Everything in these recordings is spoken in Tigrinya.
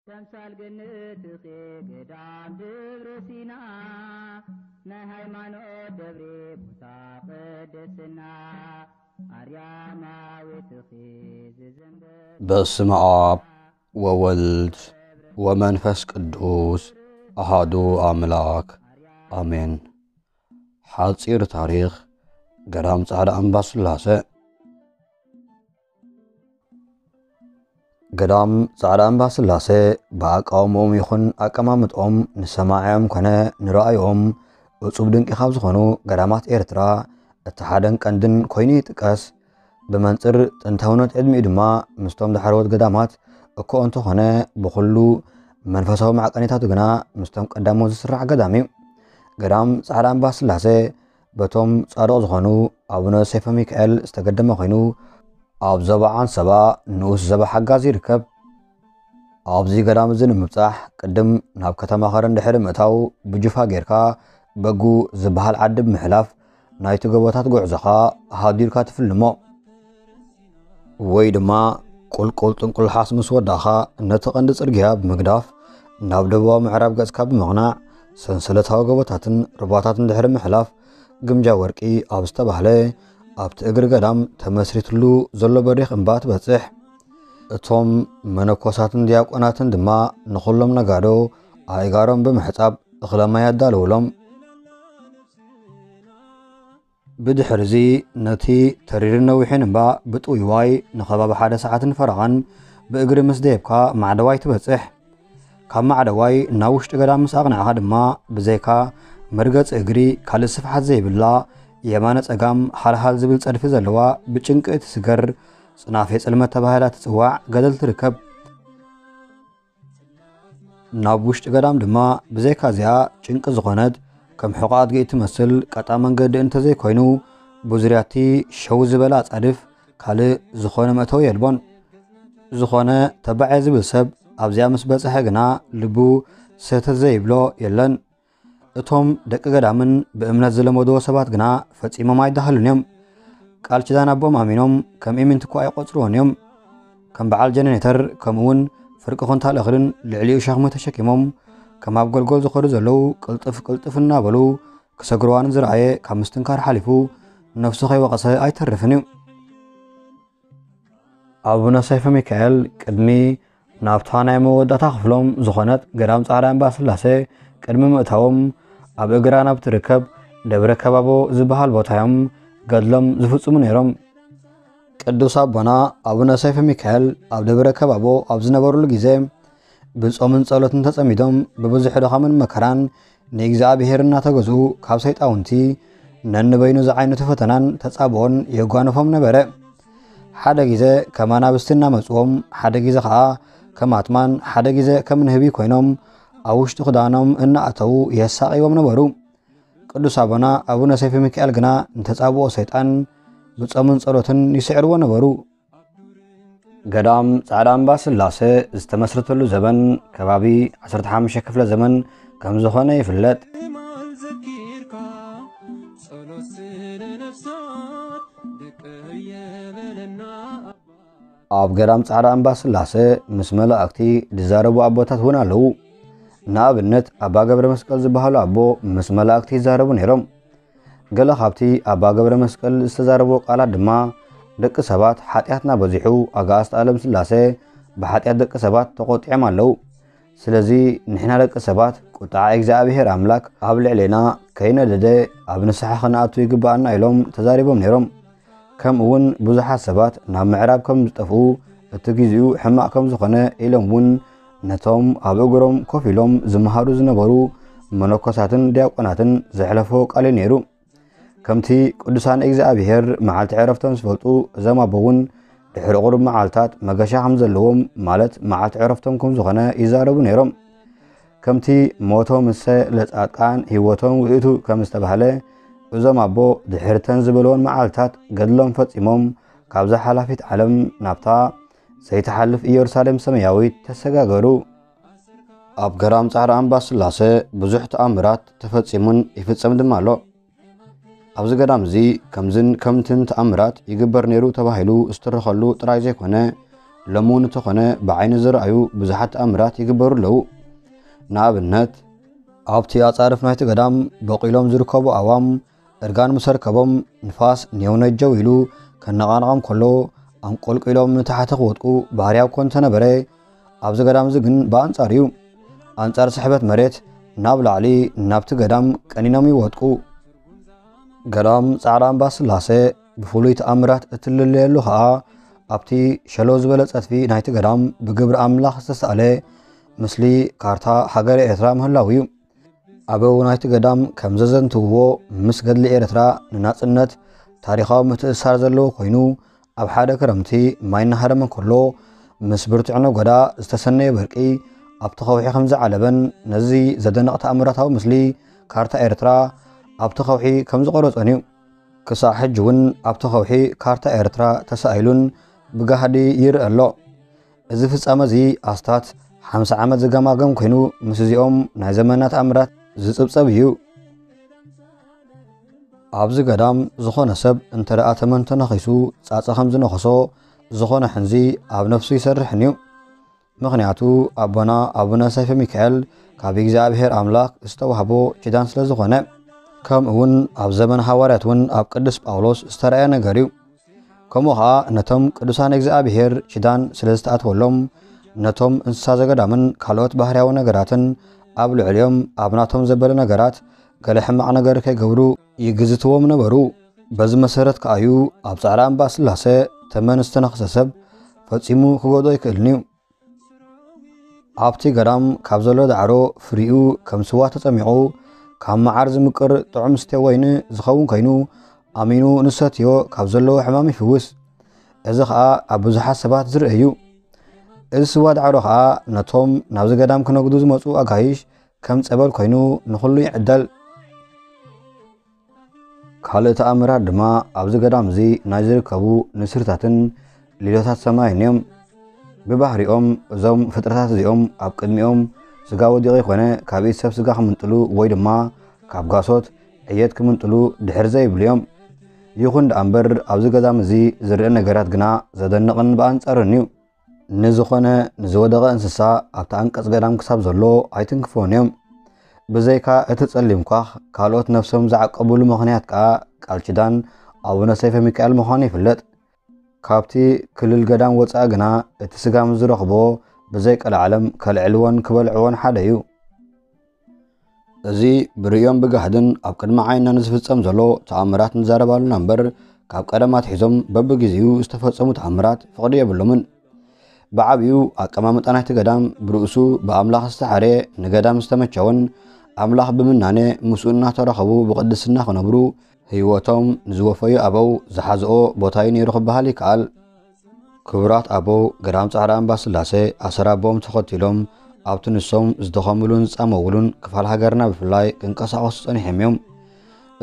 ተምሳል ገነትኺ ገዳም ደብረ ሲና፣ ናይ ሃይማኖት ደብሪ ቦታ ቅድስና፣ ኣርያማዊትኺ ዝዘንበ በስመ ኣብ ወወልድ ወመንፈስ ቅዱስ ኣሃዱ ኣምላክ ኣሜን። ሓጺር ታሪኽ ገዳም ጻዕዳ ኣምባ ስላሰ። ገዳም ጻዕዳ ኣምባ ስላሰ ብኣቃውምኦም ይኹን ኣቀማምጥኦም ንሰማዕኦም ኮነ ንረኣይኦም እጹብ ድንቂ ካብ ዝኾኑ ገዳማት ኤርትራ እቲ ሓደን ቀንድን ኮይኑ ይጥቀስ። ብመንጽር ጥንታውነት ዕድሚኡ ድማ ምስቶም ዳሕረዎት ገዳማት እኮ እንተኾነ ብኹሉ መንፈሳዊ ማዕቀኒታቱ ግና ምስቶም ቀዳሞት ዝስራሕ ገዳም እዩ። ገዳም ጻዕዳ ኣምባ ስላሰ በቶም ጻድቕ ዝኾኑ ኣቡነ ሰይፈ ሚካኤል ዝተገደመ ኮይኑ ኣብ ዞባ ዓንሰባ ንኡስ ዞባ ሓጋዝ ይርከብ። ኣብዚ ገዳም እዚ ንምብጻሕ ቅድም ናብ ከተማ ከረን ድሕሪ ምእታው ብጁፋ ጌርካ በጉ ዝበሃል ዓዲ ብምሕላፍ ናይቲ ጎቦታት ጉዕዞኻ ሃዲርካ ትፍልሞ። ወይ ድማ ቁልቁል ጥንቁልሓስ ምስ ወዳእኻ ነቲ ቀንዲ ጽርግያ ብምግዳፍ ናብ ደቡባዊ ምዕራብ ገጽካ ብምቕናዕ ሰንሰለታዊ ጎቦታትን ሩባታትን ድሕሪ ምሕላፍ ግምጃ ወርቂ ኣብ ዝተባህለ ኣብቲ እግሪ ገዳም ተመስሪትሉ ዘሎ በሪኽ እምባ ትበጽሕ። እቶም መነኮሳትን ዲያቆናትን ድማ ንኹሎም ነጋዶ ኣእጋሮም ብምሕጻብ እኽለ ማይ ኣዳለውሎም። ብድሕርዚ ነቲ ተሪርን ነዊሕን እምባ ብጥውይዋይ ንኸባቢ ሓደ ሰዓትን ፈረቓን ብእግሪ ምስ ደየብካ ማዕደዋይ ትበጽሕ። ካብ ማዕደዋይ ናብ ውሽጢ ገዳም ምስ ኣቕናዕኻ ድማ ብዘይካ መርገጺ እግሪ ካልእ ስፍሓት ዘይብላ የማነ ጸጋም ሃልሃል ዝብል ጸድፊ ዘለዋ ብጭንቂ እትስገር ጽናፌ ጽልመት ተባሂላ ትጽዋዕ ገደል ትርከብ። ናብ ውሽጢ ገዳም ድማ ብዘይካ እዚኣ ጭንቂ ዝኾነት ከም ሕቖ ኣድጊ እትመስል ቀጣ መንገዲ እንተዘይኮይኑ ብዙርያቲ ሸው ዝበለ ኣጻድፍ ካልእ ዝኾነ መእተዊ የልቦን። ዝኾነ ተባዕ ዝብል ሰብ ኣብዚኣ ምስ በጽሐ ግና ልቡ ሰተት ዘይብሎ የለን። እቶም ደቂ ገዳምን ብእምነት ዝለመድዎ ሰባት ግና ፈጺሞም ኣይዳህሉን እዮም። ቃል ኪዳን ኣቦኦም ኣሚኖም ከም ኢምንት እኳ ኣይቆጽርዎን እዮም። ከም በዓል ጀነሬተር ከምኡውን ፍርቂ ኩንታል እኽልን ልዕሊኡ ሸኽሚ ተሸኪሞም ከም ኣብ ጎልጎል ዝኸዱ ዘለዉ ቅልጥፍ ቅልጥፍ እናበሉ ክሰግርዋ ንዝረኣየ ካብ ምስትንካር ሓሊፉ ነፍሱ ከይወቐሰ ኣይተርፍን እዩ። ኣቡነ ሰይፈ ሚካኤል ቅድሚ ናብታ ናይ መወዳእታ ክፍሎም ዝኾነት ገዳም ጻዕዳ እምባ ስላሴ ቅድሚ ምእታዎም ኣብ እግራ ናብ ትርከብ ደብረ ከባቦ ዝበሃል ቦታ እዮም ገድሎም ዝፍጽሙ ነይሮም። ቅዱስ ኣቦና ኣቡነ ሰይፈ ሚካኤል ኣብ ደብረ ከባቦ ኣብ ዝነበሩሉ ግዜ ብጾምን ጸሎትን ተጸሚዶም ብብዙሕ ድኻምን መከራን ንእግዚኣብሔር እናተገዝኡ ካብ ሰይጣውንቲ ነንበይኑ ዝዓይነቱ ፈተናን ተጻብኦን የጓንፎም ነበረ። ሓደ ግዜ ከም ኣናብስቲ እናመጽዎም፣ ሓደ ግዜ ኸኣ ከም ኣትማን፣ ሓደ ግዜ ከም ንህቢ ኮይኖም ኣብ ውሽጢ ክዳኖም እናኣተዉ የሳቕይዎም ነበሩ። ቅዱስ ኣቦና ኣቡነ ሰይፈ ሚካኤል ግና ንተጻብኦ ሰይጣን ብጾምን ጸሎትን ይስዕርዎ ነበሩ። ገዳም ጻዕዳ እምባ ስላሴ ዝተመስረተሉ ዘመን ከባቢ ዓሰርተ ሓሙሽተ ክፍለ ዘመን ከም ዝኾነ ይፍለጥ። ኣብ ገዳም ጻዕዳ እምባ ስላሴ ምስ መላእክቲ ዝዛረቡ ኣቦታት እውን ኣለዉ። ንኣብነት ኣባ ገብረ መስቀል ዝበሃሉ ኣቦ ምስ መላእክቲ ይዛረቡ ነይሮም። ገለ ካብቲ ኣባ ገብረ መስቀል ዝተዛረብዎ ቃላት ድማ፣ ደቂ ሰባት ሓጢኣትና በዚሑ፣ ኣጋእዝተ ኣለም ስላሴ ብሓጢኣት ደቂ ሰባት ተቖጢዖም ኣለዉ። ስለዚ ንሕና ደቂ ሰባት ቁጥዓ እግዚኣብሔር ኣምላክ ኣብ ልዕሌና ከይነደደ ኣብ ንስሓ ክንኣቱ ይግብኣና ኢሎም ተዛሪቦም ነይሮም። ከምኡ እውን ብዙሓት ሰባት ናብ ምዕራብ ከም ዝጠፍኡ እቲ ግዜኡ ሕማቕ ከም ዝኾነ ኢሎም እውን ነቶም ኣብ እግሮም ኮፍ ኢሎም ዝመሃሩ ዝነበሩ መነኮሳትን ዲያቆናትን ዘሕለፎ ቃል እዩ ነይሩ። ከምቲ ቅዱሳን እግዚኣብሔር መዓልቲ ዕረፍቶም ዝፈልጡ እዞም ኣቦ እውን ድሕሪ ቁሩብ መዓልታት መገሻ ከም ዘለዎም ማለት መዓልቲ ዕረፍቶም ከም ዝኾነ ይዛረቡ ነይሮም። ከምቲ ሞቶም እሰ ለጻድቃን ህይወቶም ውእቱ ከም ዝተባህለ እዞም ኣቦ ድሕርተን ዝበልዎን መዓልታት ገድሎም ፈጺሞም ካብዛ ሓላፊት ዓለም ናብታ ዘይትሓልፍ ኢየሩሳሌም ሰማያዊት ተሰጋገሩ። ኣብ ገዳም ጻዕዳ ኣምባ ስላሴ ብዙሕ ተኣምራት ተፈጺሙን ይፍጸም ድማ ኣሎ። ኣብዚ ገዳም እዚ ከምዝን ከምትን ተኣምራት ይግበር ነይሩ ተባሂሉ ዝተረኸሉ ጥራይ ዘይኮነ ሎሚ እውን እንተኾነ ብዓይኒ ዝረኣዩ ብዙሓት ተኣምራት ይግበሩ ኣለዉ። ንኣብነት፣ ኣብቲ ኣጻርፍ ናይቲ ገዳም በቂሎም ዝርከቡ ኣእዋም እርጋን ምስ ኣርከቦም፣ ንፋስ ኔው ነጀው ኢሉ ከነቓንቖም ከሎ፣ ኣንቆልቂሎም ንታሕቲ ክወድቁ ባህርያዊ እኳ እንተነበረ፣ ኣብዚ ገዳም እዚ ግን ብኣንጻር እዩ። ኣንጻር ስሕበት መሬት ናብ ላዕሊ ናብቲ ገዳም ቀኒኖም ይወድቁ። ገዳም ጻዕዳ ኣምባ ስላሴ ብፍሉይ ተኣምራት እትልለየሉ ኸኣ፣ ኣብቲ ሸሎ ዝበለ ጸድፊ ናይቲ ገዳም ብግብሪ ኣምላኽ ዝተሳእለ ምስሊ ካርታ ሃገረ ኤርትራ ምህላው እዩ። ኣበው ናይቲ ገዳም ከም ዘዘንትውዎ፣ ምስ ገድሊ ኤርትራ ንናጽነት ታሪኻዊ ምትእስሳር ዘለዎ ኮይኑ፣ ኣብ ሓደ ክረምቲ ማይ እናሃረመ ከሎ፣ ምስ ብርቱዕ ነጎዳ ዝተሰነየ በርቂ ኣብቲ ከውሒ ከም ዝዓለበን፣ ነዚ ዘደንቕ ተኣምራታዊ ምስሊ ካርታ ኤርትራ ኣብቲ ከውሒ ከም ዝቐረጾን እዩ። ክሳዕ ሕጂ እውን ኣብቲ ከውሒ ካርታ ኤርትራ ተሳኢሉን ብጋህዲ ይርአ ኣሎ። እዚ ፍጻመ እዚ ኣስታት ሓምሳ ዓመት ዝገማገም ኮይኑ፣ ምስ እዚኦም ናይ ዘመናት ኣምራት ዝጽብጸብ እዩ። ኣብዚ ገዳም ዝኾነ ሰብ እንተ ደኣ ተመን ተነኺሱ፣ ጻጸ ከም ዝነኸሶ ዝኾነ ሕንዚ ኣብ ነፍሱ ይሰርሕን እዩ። ምኽንያቱ ኣቦና ኣቡነ ሰይፈ ሚካኤል ካብ እግዚኣብሔር ኣምላኽ ዝተዋህቦ ኪዳን ስለ ዝኾነ፣ ከምኡ እውን ኣብ ዘመን ሃዋርያት እውን ኣብ ቅዱስ ጳውሎስ ዝተረኣየ ነገር እዩ። ከምኡ ኸኣ ነቶም ቅዱሳን እግዚኣብሔር ኪዳን ስለ ዝተኣትወሎም፣ ነቶም እንስሳ ዘገዳምን ካልኦት ባህርያዊ ነገራትን ኣብ ልዕሊኦም ኣብ ናቶም ዘበለ ነገራት ገለ ሕማቕ ነገር ከይገብሩ ይግዝትዎም ነበሩ። በዚ መሰረት ከኣ እዩ ኣብ ጻዕዳ እምባ ስላሴ ተመን ዝተነኽሰ ሰብ ፈጺሙ ክጎድኦ ኣይክእልን እዩ። ኣብቲ ገዳም ካብ ዘሎ ዳዕሮ ፍሪኡ ከም ስዋ ተጸሚቑ፣ ካብ መዓር ዝምቅር ጥዑም ስቴ ወይኒ ዝኸውን ኮይኑ፣ ኣሚኑ ንሰትዮ ካብ ዘለዎ ሕማም ይፍውስ። እዚ ኸኣ ኣብ ብዙሓት ሰባት ዝርአ እዩ። እዚ ስዋ ዳዕሮ ኸኣ ነቶም ናብዚ ገዳም ክነግዱ ዝመጹ ኣጋይሽ ከም ጸበል ኮይኑ ንኹሉ ይዕደል። ካልእ ተኣምራት ድማ ኣብዚ ገዳም እዚ ናይ ዝርከቡ ንስርታትን ሊሎታት ሰማይን እዮም። ብባህሪኦም እዞም ፍጥረታት እዚኦም ኣብ ቅድሚኦም ስጋ ወዲቑ ይኾነ ካብ ኢድ ሰብ ስጋ ክምንጥሉ ወይ ድማ ካብ ጋሶት ዕየት ክምንጥሉ ድሕር ዘይብሉ እዮም። ይኹን ደኣ እምበር ኣብዚ ገዳም እዚ ዝርአ ነገራት ግና ዘደንቕን ብኣንጻሩን እዩ። ንዝኾነ ንዝወደቐ እንስሳ ኣብቲ ኣንቀጽ ገዳም ክሳብ ዘሎ ኣይትንክፎን እዮም። ብዘይካ እቲ ጸሊም ኳኽ ካልኦት ነፍሶም ዝዓቀብሉ ምኽንያት ከኣ ቃል ኪዳን ኣቡነ ሰይፈ ሚካኤል ምዃኑ ይፍለጥ። ካብቲ ክልል ገዳም ወጻኢ ግና እቲ ስጋ ምስ ዝረኽቦ ብዘይ ቀልዓለም ከልዕልዎን ክበልዕዎን ሓደ እዩ። እዚ ብርእዮን ብጋህድን ኣብ ቅድሚ ዓይንና ንዝፍጸም ዘሎ ተኣምራት ንዛረባሉና እምበር፣ ካብ ቀደም ኣትሒዞም በብግዜኡ ዝተፈጸሙ ተኣምራት ፍቕዲ የብሎምን። ብዓቢኡ ኣቀማምጣ ናይቲ ገዳም ብርእሱ ብኣምላኽ ዝተሓርየ፣ ንገዳም ዝተመቸወን ኣምላኽ ብምናነ ምስኡ እናተራኸቡ ብቕድስና ክነብሩ ህይወቶም ንዝወፈዩ ኣበው ዝሓዝኦ ቦታ እዩ ነይሩ ክበሃል ይከኣል። ክቡራት ኣበው ገዳም ጻዕዳ እምባ ስላሴ ኣሰር ኣቦኦም ተኸቲሎም ኣብቲ ንሶም ዝደኸምሉን ዝጻመውሉን ክፋል ሃገርና ብፍላይ ክንቀሳቐሱ ጸኒሖም እዮም።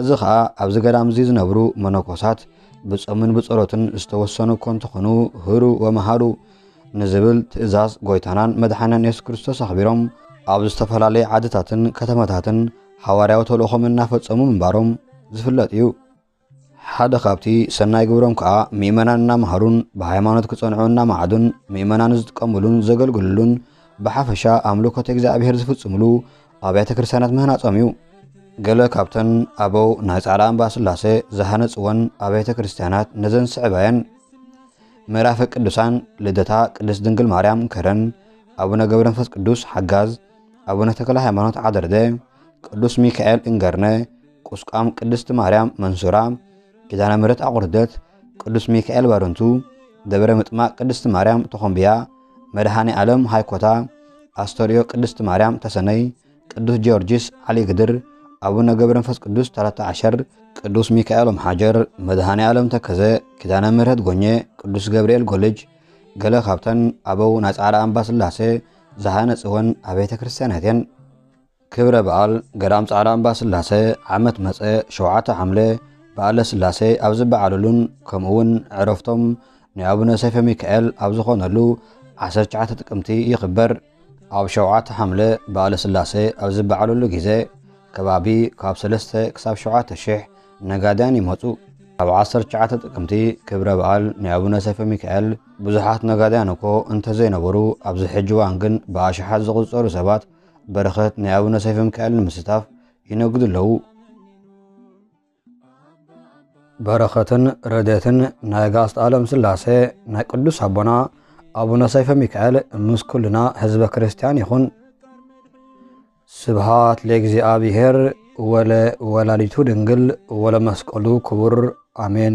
እዚ ኸኣ ኣብዚ ገዳም እዚ ዝነብሩ መነኮሳት ብጾምን ብጸሎትን ዝተወሰኑ እኮ እንተኾኑ፣ ህሩ ወመሃሩ ንዝብል ትእዛዝ ጎይታናን መድሓናን የሱስ ክርስቶስ ኣኽቢሮም ኣብ ዝተፈላለየ ዓድታትን ከተማታትን ሓዋርያዊ ተልእኾም እናፈጸሙ ምንባሮም ዝፍለጥ እዩ። ሓደ ካብቲ ሰናይ ግብሮም ከኣ ምእመናን እናመሃሩን ብሃይማኖት ክጸንዑ እናመዓዱን ምእመናን ዝጥቀሙሉን ዘገልግሉሉን ብሓፈሻ ኣምልኮት እግዚኣብሔር ዝፍጽሙሉ ኣብያተ ክርስቲያናት ምህናጾም እዩ። ገለ ካብተን ኣበው ናይ ጻዕዳ እምባ ስላሴ ዝሃነጽወን ኣብያተ ክርስቲያናት ነዘን ዝስዕባ እየን። ምዕራፈ ቅዱሳን ልደታ ቅድስት ድንግል ማርያም ከረን፣ ኣቡነ ገብረ መንፈስ ቅዱስ ሓጋዝ፣ ኣቡነ ተክለ ሃይማኖት ዓደርደ፣ ቅዱስ ሚካኤል እንገርነ፣ ቁስቋም ቅድስት ማርያም መንሱራ፣ ኪዳነ ምሕረት ኣቑርደት፣ ቅዱስ ሚካኤል ባረንቱ፣ ደብረ ምጥማቕ ቅድስት ማርያም ተኾምብያ፣ መድኃኔ ዓለም ሃይኮታ፣ ኣስተርእዮ ቅድስት ማርያም ተሰነይ፣ ቅዱስ ጊዮርጊስ ዓሊ ግድር፣ ኣቡነ ገብረ መንፈስ ቅዱስ ተረታ ዓሸር፣ ቅዱስ ሚካኤል ኦም ሓጀር፣ መድኃኔ ዓለም ተከዘ፣ ኪዳነ ምሕረት ጎኘ፣ ቅዱስ ገብርኤል ጎልጅ፣ ገለ ካብተን ኣበው ናይ ጻዕዳ ኣምባ ስላሴ ዝሃነጽወን ኣብያተ ክርስቲያናት እየን። ክብረ በዓል ገዳም ጻዕዳ ኣምባ ስላሴ ዓመት መጸ ሸውዓተ ሓምለ በዓለ ስላሴ ኣብ ዝበዓለሉን ከምኡውን ዕረፍቶም ናይ ኣቡነ ሰይፈ ሚካኤል ኣብ ዝኾነሉ ዓሰርተ ትሽዓተ ጥቅምቲ ይኽበር። ኣብ ሸውዓተ ሓምለ በዓለ ስላሴ ኣብ ዝበዓለሉ ግዜ ከባቢ ካብ ሰለስተ ክሳብ ሸውዓተ ሽሕ ነጋድያን ይመጹ። ኣብ ዓሰርተ ትሽዓተ ጥቅምቲ ክብረ በዓል ናይ ኣቡነ ሰይፈ ሚካኤል ብዙሓት ነጋድያን እኮ እንተዘይነበሩ፣ ኣብዚ ሕጂ እዋን ግን ብኣሽሓት ዝቑጸሩ ሰባት በረኸት ናይ ኣቡነ ሰይፈ ሚካኤል ንምስታፍ ይነግዱ ኣለዉ። በረኸትን ረድኤትን ናይ ኣጋዕዝተ ዓለም ስላሴ ናይ ቅዱስ ኣቦና ኣቡነ ሰይፈ ሚካኤል ምስ ኩልና ህዝበ ክርስቲያን ይኹን። ስብሃት ለእግዚኣብሔር ወለ ወላዲቱ ድንግል ወለ መስቀሉ ክቡር። ኣሜን።